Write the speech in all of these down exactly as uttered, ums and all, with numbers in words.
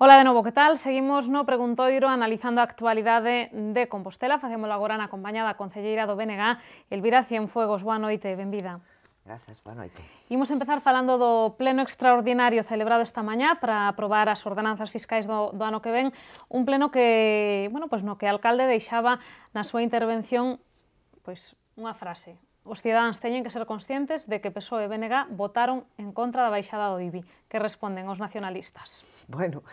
Ola de novo, que tal? Seguimos no Preguntoiro analizando a actualidade de Compostela. Facémolo agora na compañía da concelleira do B N G, Elvira Cienfuegos. Boa noite, benvida. Grazas, boa noite. Imos empezar falando do pleno extraordinario celebrado esta mañá para aprobar as ordenanzas fiscais do, do ano que ven. Un pleno que, bueno, pues no que o alcalde deixaba na súa intervención pois, unha frase. Os cidadáns teñen que ser conscientes de que P S O E e B N G votaron en contra da baixada do I B I. Que responden os nacionalistas? Bueno,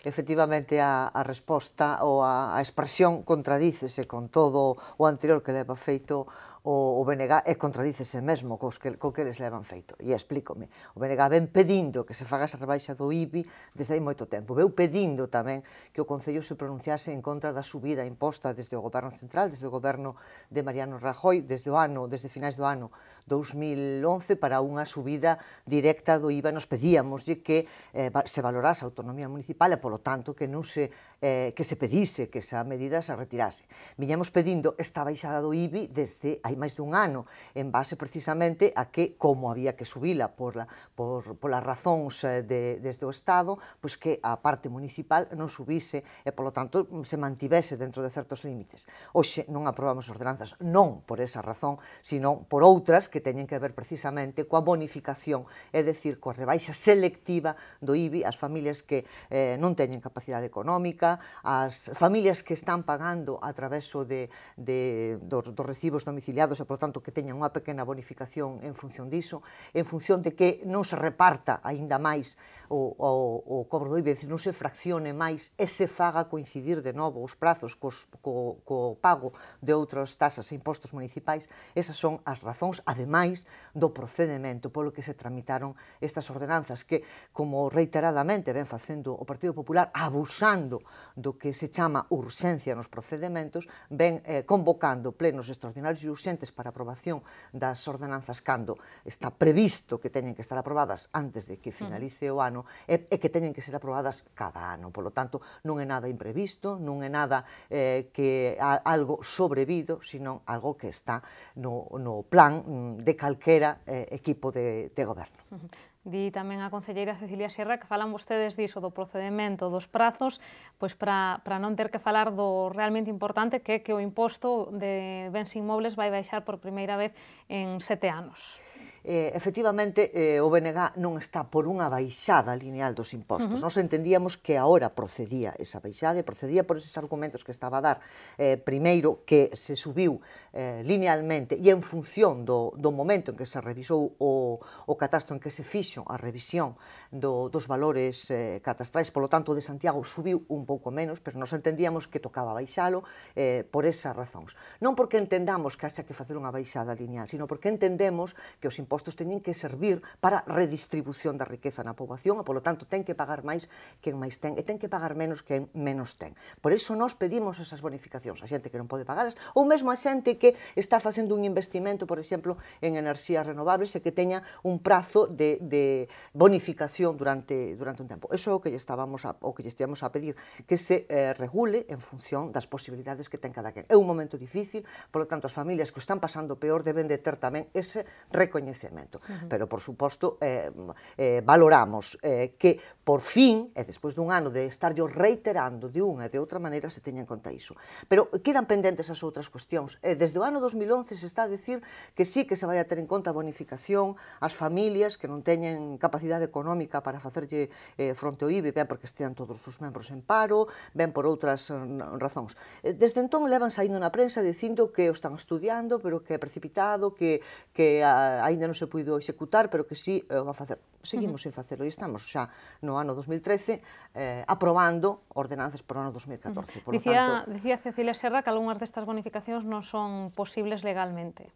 efectivamente a, a resposta ou a, a expresión contradícese con todo o anterior que leva feito o, o B N G e contradícese mesmo cos que, co que eles levan feito. E explícome. O B N G ven pedindo que se faga esa rebaixa do I B I desde hai moito tempo. Veu pedindo tamén que o Concello se pronunciase en contra da subida imposta desde o Goberno Central, desde o Goberno de Mariano Rajoy, desde o ano, desde finais do ano dous mil once para unha subida directa do I V A. Nos pedíamoslle que eh, se valorase a autonomía municipal e, polo tanto, que non se, eh, que se pedise que esa medida se retirase. Viñamos pedindo esta baixada do I B I desde hai máis dun ano, en base precisamente a que, como había que subila por, la, por, por las razóns de, desde o Estado, pois que a parte municipal non subise e, polo tanto, se mantivese dentro de certos límites. Hoxe non aprobamos ordenanzas non por esa razón, sino por outras que teñen que ver precisamente coa bonificación, é dicir, coa rebaixa selectiva do I B I ás familias que eh, non teñen capacidade económica, ás familias que están pagando a través de, de, dos, dos recibos domiciliados e, por tanto, que teñan unha pequena bonificación en función diso, en función de que non se reparta aínda máis o, o, o cobro do I B I, é dicir, non se fraccione máis e se faga coincidir de novo os prazos cos, co, co pago de outras tasas e impostos municipais. Esas son as razóns, ademais do procedimento polo que se tramitaron estas ordenanzas que, como reiteradamente ven facendo o Partido Popular, abusando do que se chama urxencia nos procedementos, ven eh, convocando plenos extraordinarios e urxentes para aprobación das ordenanzas cando está previsto que teñen que estar aprobadas antes de que finalice o ano e, e que teñen que ser aprobadas cada ano. Polo tanto, non é nada imprevisto, non é nada eh, que a, algo sobrevido, sino algo que está no, no plan de calquera eh, equipo de, de goberno. Uh-huh. Di tamén a concelleira Cecilia Sierra que falan vostedes diso do procedimento dos prazos, pois para, para non ter que falar do realmente importante que é que o imposto de bens inmobles vai baixar por primeira vez en sete anos. Eh, efectivamente, eh, o B N G non está por unha baixada lineal dos impostos. Uh-huh. Nos entendíamos que agora procedía esa baixada e procedía por eses argumentos que estaba a dar. Eh, primeiro, que se subiu eh, linealmente e en función do, do momento en que se revisou o, o catastro, en que se fixo a revisión do, dos valores eh, catastrais, polo tanto, o de Santiago subiu un pouco menos, pero nos entendíamos que tocaba baixalo eh, por esas razóns. Non porque entendamos que haxa que facer unha baixada lineal, sino porque entendemos que os impostos impostos teñen que servir para redistribución da riqueza na poboación e, polo tanto, ten que pagar máis quen máis ten e ten que pagar menos quen menos ten. Por iso nós pedimos esas bonificacións a xente que non pode pagalas ou mesmo a xente que está facendo un investimento, por exemplo, en enerxías renovables e que teña un prazo de, de bonificación durante, durante un tempo. Eso é o que lle estábamos a, o que lle estíamos a pedir, que se eh, regule en función das posibilidades que ten cada quen. É un momento difícil, polo tanto, as familias que o están pasando peor deben de ter tamén ese recoñecemento. Uh-huh. Pero, por suposto, eh, eh, valoramos eh, que, por fin, e despois dun ano de estarlo reiterando de unha e de outra maneira, se teña en conta iso. Pero quedan pendentes as outras cuestións. Eh, desde o ano dos mil once se está a decir que sí que se vai a ter en conta a bonificación ás familias que non teñen capacidade económica para facerlle eh, fronte ao I B I, ben porque estean todos os membros en paro, ben por outras eh, razóns. Eh, desde entón levan saindo na prensa dicindo que o están estudiando, pero que é precipitado, que, que a, aínda non se puido executar, pero que sí eh, va a facer. Seguimos uh-huh. sen facelo e estamos xa no ano dos mil trece eh, aprobando ordenanzas por ano dos mil catorce. Uh-huh. Por dicía, tanto, dicía Cecilia Serra que algunhas destas bonificacións non son posibles legalmente.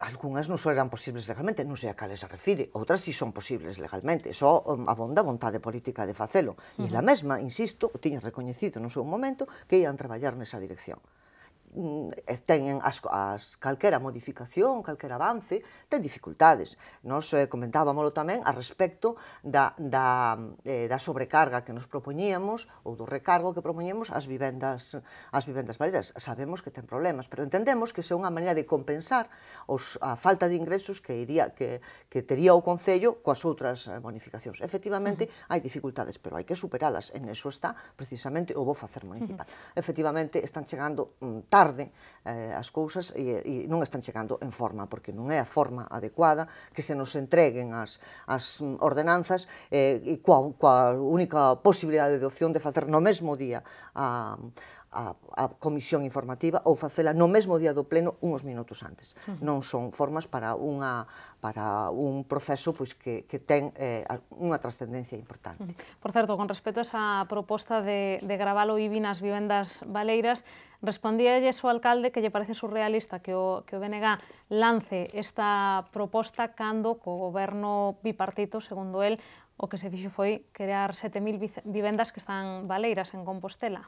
Algúnas non eran posibles legalmente, non sei a cales se refire, outras si son posibles legalmente, só um, abonda a vontade política de facelo. Uh-huh. E ela mesma, insisto, tiña recoñecido no seu momento que ian traballar nesa dirección. ten as, as calquera modificación, calquera avance, ten dificultades. Nos eh, comentábamoslo tamén a respecto da, da, eh, da sobrecarga que nos propoñíamos ou do recargo que propoñíamos ás vivendas, ás vivendas baleiras. Sabemos que ten problemas, pero entendemos que se é unha maneira de compensar os, a falta de ingresos que, iría, que, que tería o Concello coas outras bonificacións. Efectivamente, uh-huh. hai dificultades, pero hai que superalas. En eso está precisamente o bo facer municipal. Uh-huh. Efectivamente, están chegando mm, tarde eh, as cousas e, e non están chegando en forma, porque non é a forma adecuada que se nos entreguen as, as ordenanzas eh, e coa, coa única posibilidade de opción de facer no mesmo día a, a, a comisión informativa ou facela no mesmo día do pleno uns minutos antes. Uh-huh. Non son formas para, unha, para un proceso pois, que, que ten eh, unha trascendencia importante. Uh-huh. Por certo, con respecto a esa proposta de, de gravar o I B I nas vivendas baleiras, respondíalles o alcalde que lle parece surrealista que o, que o B N G lance esta proposta cando co goberno bipartito, segundo el, o que se fixo foi crear sete mil vivendas que están baleiras en Compostela.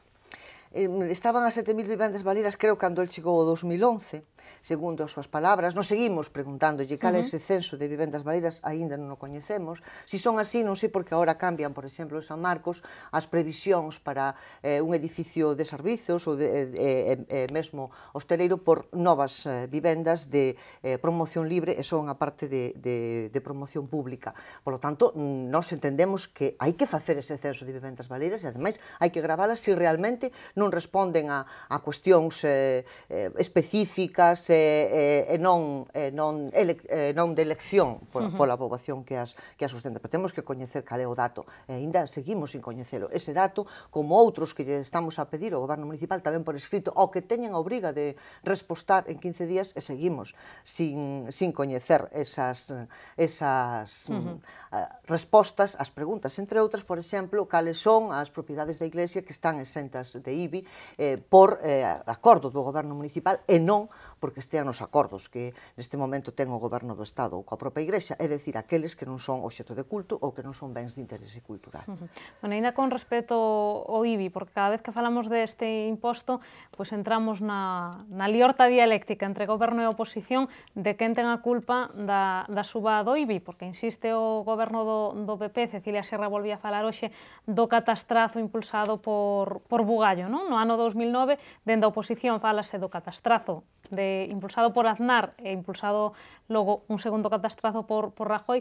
Estaban as sete mil vivendas baleiras, creo, cando el chegou o dos mil once, segundo as súas palabras. Nos seguimos preguntándolle cal é ese censo de vivendas baleiras, aínda non o coñecemos. Si son así, non sei porque agora cambian, por exemplo, en San Marcos, as previsións para eh, un edificio de servizos ou de, eh, eh, mesmo hosteleiro por novas eh, vivendas de eh, promoción libre e son a parte de, de, de promoción pública. Por lo tanto, nós entendemos que hai que facer ese censo de vivendas baleiras e, ademais, hai que gravalas se realmente non responden a, a cuestións eh, eh, específicas e, eh, non, eh, non, ele, eh, non de elección por, uh-huh. pola poboación que as, que as sustenta. Pero temos que coñecer cal é o dato. E ainda seguimos sin coñecelo. Ese dato, como outros que lle estamos a pedir ao goberno municipal tamén por escrito, ao que teñen a obriga de respostar en quince días, e seguimos sin, sin coñecer esas, esas uh-huh. uh, respostas ás preguntas. Entre outras, por exemplo, cales son as propiedades da Iglesia que están exentas de I B I Eh, por eh, acordo do goberno municipal e non porque estean nos acordos que neste momento ten o goberno do Estado ou coa propia Igrexa, é dicir, aqueles que non son obxecto de culto ou que non son bens de interese cultural. Uh-huh. Bueno, ainda con respecto ao I B I, porque cada vez que falamos deste imposto, pois entramos na, na liorta dialéctica entre goberno e oposición de quen ten a culpa da, da suba do I B I, porque insiste o goberno do, do P P, Cecilia Serra volvía a falar hoxe do catastrazo impulsado por, por Bugallo, non? No ano dous mil nove, dende a oposición falase do catastrazo de, impulsado por Aznar e impulsado logo un segundo catastrazo por, por Rajoy,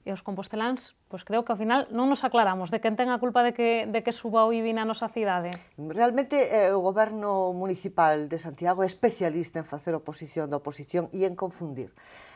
e os composteláns, pois creo que ao final non nos aclaramos de quen ten a culpa de que, de que suba o I B I na nosa cidade. Realmente eh, o goberno municipal de Santiago é especialista en facer oposición da oposición e en confundir.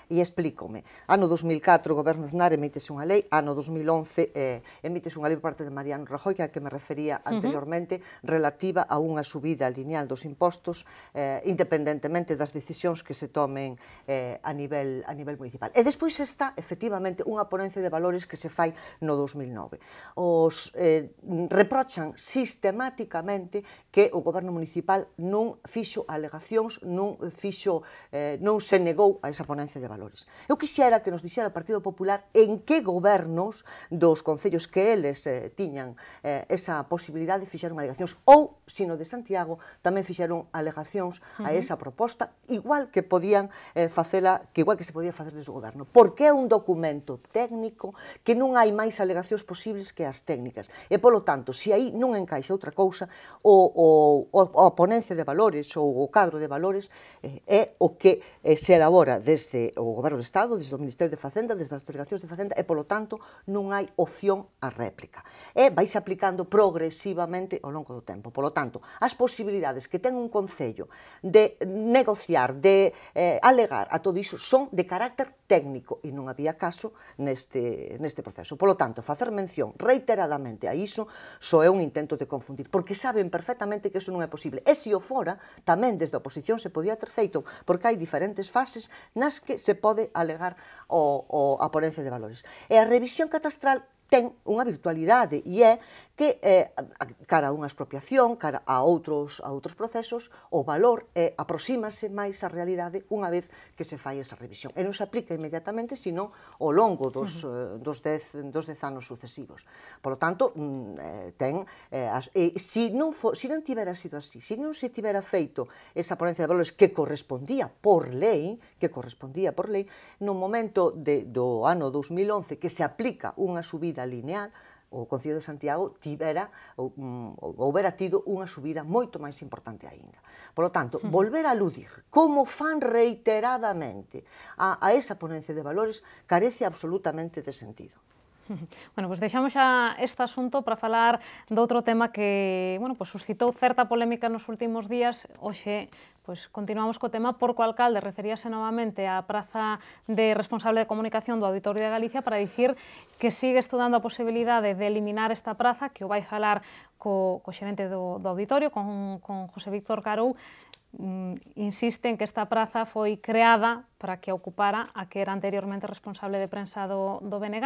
E explícome. Ano dos mil catro, o goberno de Aznar emítese unha lei, ano dos mil once eh, emítese unha lei por parte de Mariano Rajoy, que a que me refería anteriormente, uh-huh. relativa a unha subida lineal dos impostos, eh, independentemente das decisións que se tomen eh, a, nivel, a nivel municipal. E despois está, efectivamente, unha ponencia de valores que se fai no dos mil nove. Os eh, reprochan sistemáticamente que o goberno municipal non fixo alegacións, non fixo, eh, non se negou a esa ponencia de valores. Eu quixera que nos dixera o Partido Popular en que gobernos dos concellos que eles eh, tiñan eh, esa posibilidade fixeron alegacións, ou, sino de Santiago, tamén fixeron alegacións a esa proposta, igual que podían eh, facela, que igual que se podía facer desde o goberno, porque é un documento técnico que non hai máis alegacións posibles que as técnicas. E, polo tanto, se aí non encaixa outra cousa, o, o, o, a ponencia de valores ou o cadro de valores eh, é o que eh, se elabora desde o goberno do Estado, desde o Ministerio de Facenda, desde as delegacións de Facenda, e, polo tanto, non hai opción á réplica. E vais aplicando progresivamente ao longo do tempo. Polo tanto, as posibilidades que ten un concello de negociar, de eh, alegar a todo iso, son de carácter técnico, e non había caso neste, neste proceso. Polo tanto, facer mención reiteradamente a iso só é un intento de confundir, porque saben perfectamente que iso non é posible. E se o fora, tamén desde a oposición se podía ter feito, porque hai diferentes fases nas que se pode alegar o, o, a ponencia de valores. E a revisión catastral ten unha virtualidade e é que eh, cara a unha expropiación, cara a outros, a outros procesos, o valor eh, aproxímase máis á realidade unha vez que se fai esa revisión. E non se aplica inmediatamente, sino ao longo dos, uh -huh. eh, dos, dez, dos dez anos sucesivos. Por lo tanto, mm, eh, ten, eh, as, eh, si, non fo, si non tivera sido así, si non se tivera feito esa ponencia de valores que correspondía por lei, que correspondía por lei, no momento de, do ano dos mil once que se aplica unha subida lineal, o Concello de Santiago tivera ou, ou houbera tido unha subida moito máis importante aínda. Por lo tanto, volver a aludir como fan reiteradamente a, a esa ponencia de valores carece absolutamente de sentido. Bueno, pois deixamos xa este asunto para falar de outro tema que, bueno, pois suscitou certa polémica nos últimos días. Hoxe, pois continuamos co tema porque o alcalde referíase novamente á praza de responsable de comunicación do Auditorio de Galicia para dicir que sigue estudando a posibilidade de eliminar esta praza, que o vai falar co, co xerente do, do auditorio, con, con José Víctor Carou. Mm, insiste en que esta praza foi creada para que ocupara a que era anteriormente responsable de prensa do, do B N G.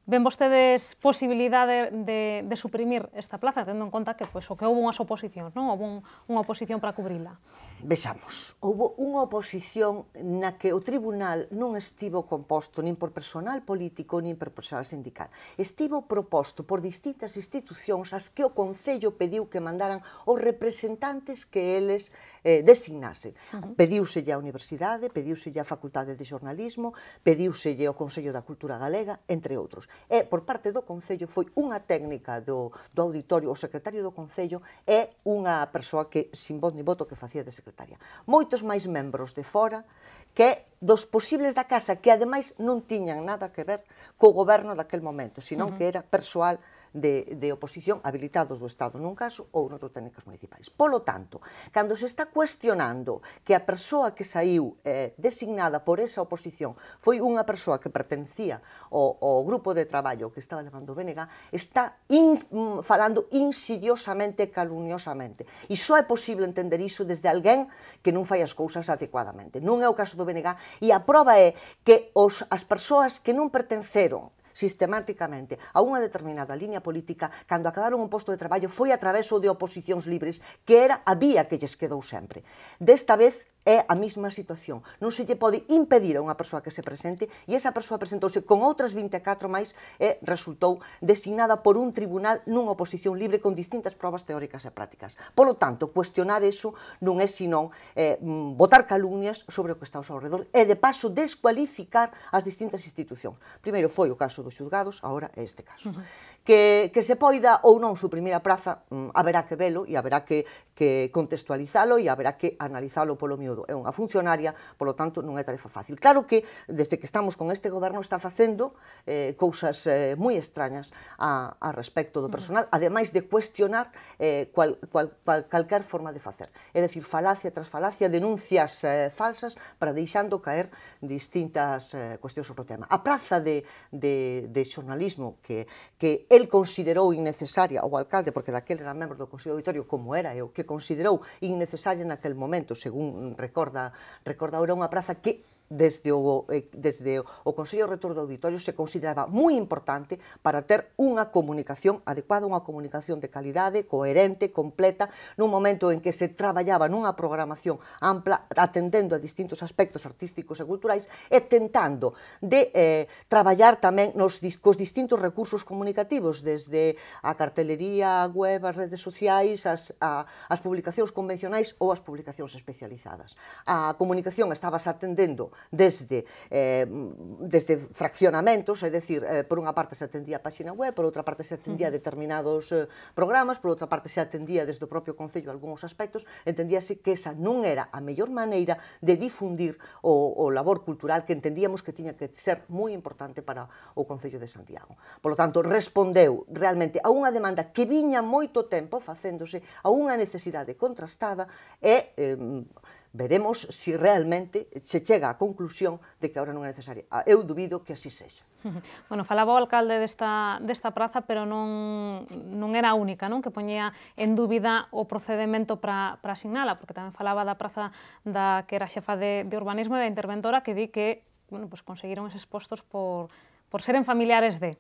Ven vostedes posibilidade de, de suprimir esta plaza, tendo en conta que, pois, o que houve unhas oposicións, non? Houve un, unha oposición para cubrila. Vexamos, houve unha oposición na que o tribunal non estivo composto nin por personal político nin por personal sindical. Estivo proposto por distintas institucións as que o Concello pediu que mandaran os representantes que eles eh, designasen. Uh-huh. Pediuselle a Universidade, pediuselle a Facultade de Xornalismo, pediuselle ao Consello da Cultura Galega, entre outros. E, por parte do Concello, foi unha técnica do, do auditorio, o secretario do Concello é unha persoa que, sin voz ni voto, que facía de secretaria. Moitos máis membros de fora que dos posibles da casa que ademais non tiñan nada que ver co goberno daquel momento, senón uh -huh. que era persoal de, de oposición habilitados do Estado nun caso ou noutros técnicos municipais. Polo tanto, cando se está cuestionando que a persoa que saiu eh, designada por esa oposición foi unha persoa que pertencía ao, ao grupo de traballo que estaba levando o B N G, está in, mm, falando insidiosamente, calumniosamente. E só é posible entender iso desde alguén que non fai as cousas adecuadamente. Non é o caso do B N G e a proba é que os, as persoas que non pertenceron sistemáticamente a unha determinada liña política, cando acabaron un posto de traballo, foi a través de oposicións libres, que era a vía que lles quedou sempre. Desta vez é a mesma situación. Non se lle pode impedir a unha persoa que se presente e esa persoa presentouse con outras vinte e catro máis e resultou designada por un tribunal nunha oposición libre con distintas probas teóricas e prácticas. Polo tanto, cuestionar eso non é senón eh, botar calumnias sobre o que está ao seu redor e de paso descualificar as distintas institucións. Primeiro foi o caso dos xulgados, agora é este caso. Uh -huh. que, que se poida ou non suprimir a praza, mm, haberá que velo e haberá que, que contextualizalo e haberá que analizalo polo miúdo. É unha funcionaria, polo tanto, non é tarefa fácil. Claro que, desde que estamos con este goberno, está facendo eh, cousas eh, moi extrañas a, a respecto do personal, ademais de cuestionar eh, cual, cual, cual, calquer forma de facer. É dicir, falacia tras falacia, denuncias eh, falsas para deixando caer distintas eh, cuestións sobre o tema. A praza de, de, de xornalismo que, que el considerou innecesaria, o alcalde, porque daquele era membro do Consello Auditorio, como era eu, que considerou innecesaria naquel momento, según recorda, recorda ahora, unha praza que desde o, desde o Consello Rector do Auditorio se consideraba moi importante para ter unha comunicación adecuada, unha comunicación de calidade, coherente, completa, nun momento en que se traballaba nunha programación ampla, atendendo a distintos aspectos artísticos e culturais e tentando de eh, traballar tamén nos cos distintos recursos comunicativos, desde a cartelería, a web, as redes sociais, as, a, as publicacións convencionais ou as publicacións especializadas. A comunicación estabas atendendo desde, eh, desde fraccionamentos, é dicir, eh, por unha parte se atendía a página web, por outra parte se atendía a determinados eh, programas, por outra parte se atendía desde o propio Concello algúns aspectos, entendíase que esa non era a mellor maneira de difundir o, o labor cultural que entendíamos que tiña que ser moi importante para o Concello de Santiago. Por lo tanto, respondeu realmente a unha demanda que viña moito tempo facéndose, a unha necesidade contrastada e eh, veremos se realmente se chega á conclusión de que agora non é necesaria. Eu dubido que así sexa. Bueno, falaba o alcalde desta, desta praza, pero non, non era a única, non? Que poñía en dúbida o procedimento para, para asignala, porque tamén falaba da praza da que era xefa de, de urbanismo e da interventora que di que, bueno, pues conseguiron eses postos por, por seren familiares de...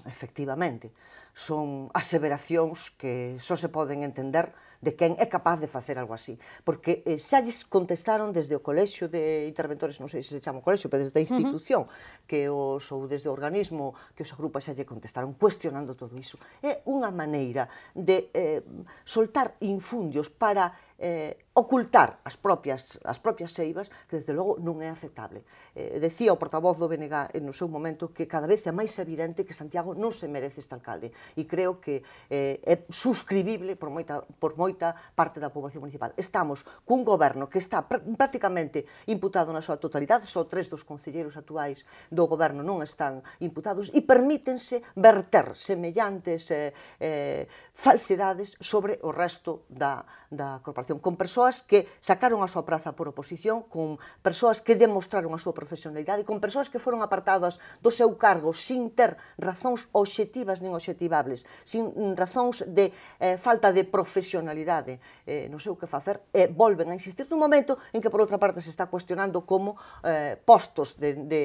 efectivamente. Son aseveracións que só se poden entender de quen é capaz de facer algo así. Porque eh, xa lles contestaron desde o colexio de interventores, non sei se se chama o colexio, pero desde a institución, uh-huh. que os, ou desde o organismo que os agrupa xa lle contestaron, cuestionando todo iso. É unha maneira de eh, soltar infundios para eh, ocultar as propias, as propias seivas, que desde logo non é aceptable. Eh, decía o portavoz do B N G no seu momento que cada vez é máis evidente que Santiago non se merece este alcalde, e creo que eh, é suscribible por moita, por moita parte da poboación municipal. Estamos cun goberno que está pr prácticamente imputado na súa totalidade, só tres dos concelleiros actuais do goberno non están imputados, e permítense verter semellantes eh, eh, falsedades sobre o resto da, da corporación, con persoas que sacaron a súa praza por oposición, con persoas que demostraron a súa profesionalidade, con persoas que foron apartadas do seu cargo sin ter razóns obxectivas nin obxectivables, sin razóns de eh, falta de profesionalidade eh, no seu que facer, e volven a insistir nun momento en que por outra parte se está cuestionando como eh, postos de, de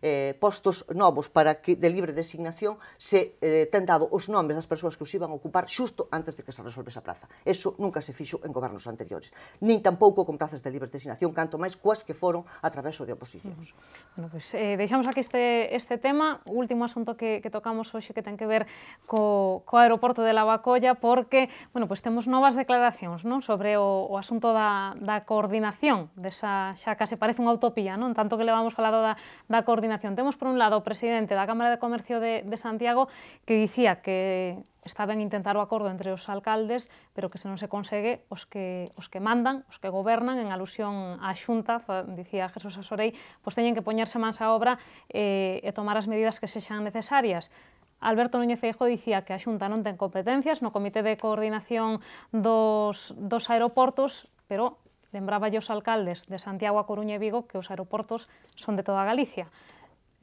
eh, postos novos para que de libre designación se eh, ten dado os nomes das persoas que os iban a ocupar xusto antes de que se resolve esa praza. Eso nunca se fixo en gobernos anteriores, nin tampouco con prazas de libre designación, canto máis coas que foron a través de oposicións. Bueno, pois pues, eh, deixamos aquí este, este tema, o último asunto que, que tocamos hoxe que ten que ver co, co aeroporto de Lavacolla, porque, bueno, pues temos novas declaracións, non, sobre o, o asunto da, da coordinación desa, xa case parece unha utopía, non, tanto que levamos falado da, da coordinación. Temos por un lado o presidente da Cámara de Comercio de, de Santiago que dicía que está ben intentar o acordo entre os alcaldes, pero que se non se consegue, os que, os que mandan, os que gobernan, en alusión á Xunta, dicía Jesús Asorei, pois teñen que poñerse mans á obra e, e tomar as medidas que sexan necesarias. Alberto Núñez Feijóo dicía que a Xunta non ten competencias no Comité de Coordinación dos, dos aeroportos, pero lembraba aos alcaldes de Santiago, A Coruña e Vigo que os aeroportos son de toda Galicia.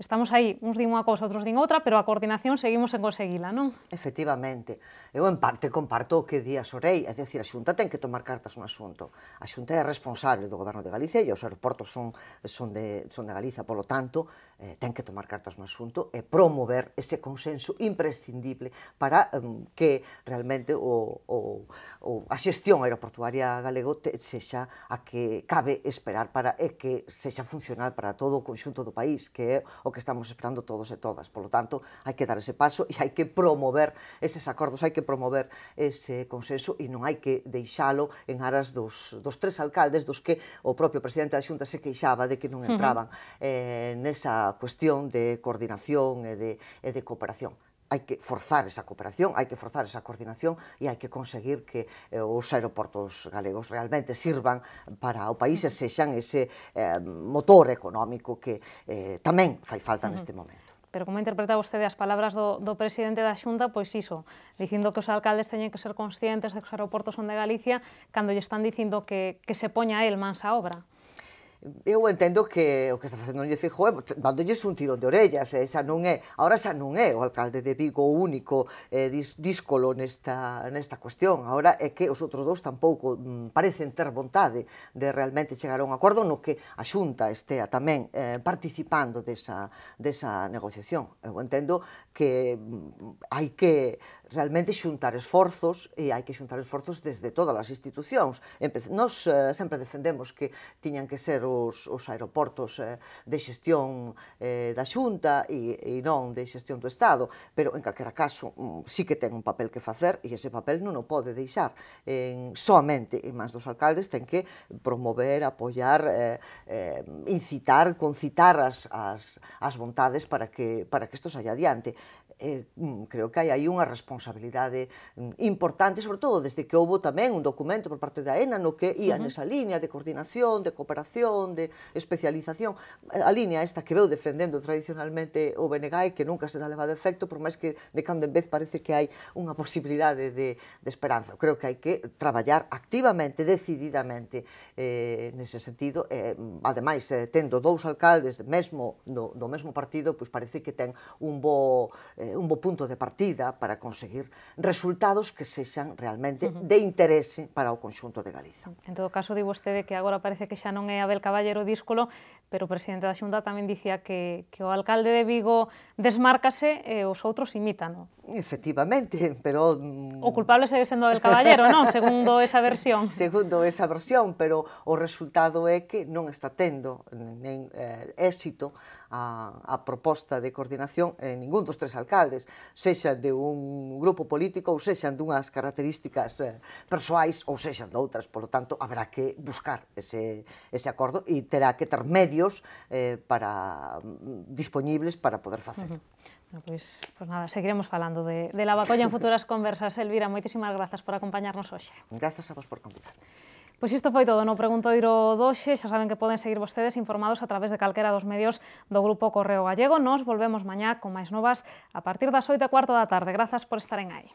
Estamos aí, uns din unha cousa, outros din outra, pero a coordinación seguimos en conseguila, non? Efectivamente. Eu, en parte, comparto o que di a Sorei, é dicir, a Xunta ten que tomar cartas no asunto. A Xunta é responsable do Goberno de Galicia e os aeroportos son, son, de, son de Galiza, polo tanto, eh, ten que tomar cartas no asunto e promover ese consenso imprescindible para um, que realmente o, o, o, a xestión aeroportuaria galego te, sexa a que cabe esperar para e que sexa funcional para todo o conxunto do país, que é o que estamos esperando todos e todas. Por lo tanto, hai que dar ese paso e hai que promover eses acordos, hai que promover ese consenso e non hai que deixalo en aras dos, dos tres alcaldes dos que o propio presidente da Xunta se queixaba de que non entraban uh-huh. eh, nesa cuestión de coordinación e de, e de cooperación. Hai que forzar esa cooperación, hai que forzar esa coordinación e hai que conseguir que eh, os aeroportos galegos realmente sirvan para o país e sexan ese eh, motor económico que eh, tamén fai falta uh-huh. neste momento. Pero como interpreta vostede as palabras do, do presidente da Xunta, pois iso, dicindo que os alcaldes teñen que ser conscientes de que os aeroportos son de Galicia, cando lle están dicindo que, que se poña el mans á obra. Eu entendo que o que está facendo Núñez Feijóo é dándolles un tirón de orellas, e xa non é, agora xa non é o alcalde de Vigo o único eh, dis, díscolo nesta, nesta cuestión, agora é que os outros dous tampouco mm, parecen ter vontade de realmente chegar a un acordo no que a Xunta estea tamén eh, participando desa, desa negociación. Eu entendo que mm, hai que realmente xuntar esforzos, e hai que xuntar esforzos desde todas as institucións. Nos eh, sempre defendemos que tiñan que ser os, os aeroportos eh, de xestión eh, da Xunta e, e non de xestión do Estado, pero en calquera caso mm, sí que ten un papel que facer e ese papel non o pode deixar en, soamente en mans dos alcaldes, ten que promover, apoiar, eh, eh, incitar, concitar as, as, as vontades para que, para que isto saia adiante. Eh, creo que hai aí unha responsabilidade importante, sobre todo desde que houbo tamén un documento por parte da ENA no que ia uh -huh. nesa línea de coordinación, de cooperación, de especialización, a línea esta que veu defendendo tradicionalmente o B N G e que nunca se dá levado efecto, por máis que de cando en vez parece que hai unha posibilidade de, de esperanza. Creo que hai que traballar activamente, decididamente eh, nese sentido, e, ademais, eh, tendo dous alcaldes mesmo do, do mesmo partido, pois parece que ten un bo eh, un bo punto de partida para conseguir resultados que sexan realmente uh -huh. de interese para o conxunto de Galiza. En todo caso, di vostede que agora parece que xa non é Abel Cabral Caballero díscolo, pero o presidente da Xunta tamén dicía que, que o alcalde de Vigo desmárcase e os outros imítano. Efectivamente, pero... O culpable segue sendo Abel Caballero, non? Segundo esa versión. Segundo esa versión, pero o resultado é que non está tendo nen eh, éxito a, a proposta de coordinación en ningún dos tres alcaldes, sexan de un grupo político ou sexan dunhas características eh, persoais ou sexan de outras, polo tanto, haberá que buscar ese, ese acordo e terá que ter medios eh, para dispoñibles para poder facer. Uh -huh. Bueno, pois, pois nada, seguiremos falando de, de Lavacolla en futuras conversas. Elvira, moitísimas grazas por acompañarnos hoxe. Grazas a vos por convidarme. Pois isto foi todo no Preguntoiro doxe. Xa saben que poden seguir vostedes informados a través de calquera dos medios do Grupo Correo Gallego. Nos volvemos mañá con máis novas a partir das oito e cuarto da tarde. Grazas por estaren aí.